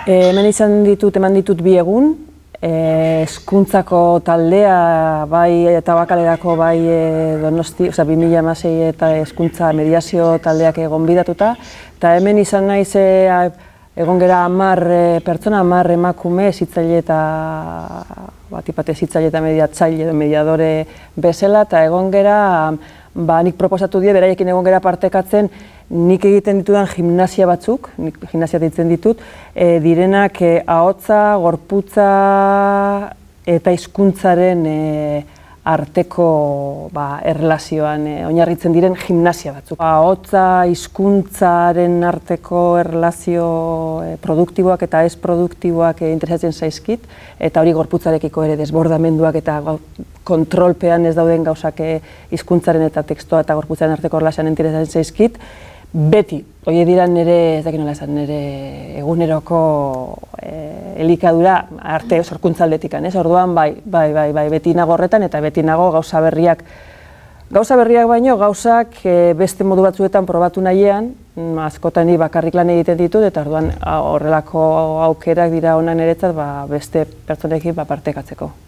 Hemen eman ditut 2 egun, hezkuntzako taldea, bai eta Bakalerako, bai Donosti, 2016 eta hezkuntza mediazio taldeak gonbidatuta, eta hemen izan naiz egon gera 10 pertsona, 10 emakume, hezitzaile eta hezitzaile eta mediatzaile edo mediadore bezala, eta egon gera, nik proposatu die, beraiekin egon gera partekatzen, nik egiten ditudan gimnasia batzuk, nik gimnasia deitzen ditut, direnak ahotsa, gorputza eta hizkuntzaren arteko erlazioan oinarritzen diren gimnasia batzuk. Ahotsa, hizkuntzaren arteko erlazio produktiboak eta ez produktiboak interesatzen zaizkit, eta hori gorputzarekiko ere desbordamenduak eta kontrolpean ez dauden gauzak hizkuntzaren eta tekstua eta gorputzaren arteko erlazioan interesatzen zaizkit. Beti, hori dira nire, ez dakit nola esan, nire eguneroko elikadura arte sorkuntzaldetikan, ez? Orduan, bai, beti nago horretan eta beti nago gauza berriak baino, gauzak beste modu batzuetan probatu nahian, askotan bakarrik lan egiten ditut, eta orduan horrelako aukerak dira ona niretzat beste pertsonekin partekatzeko.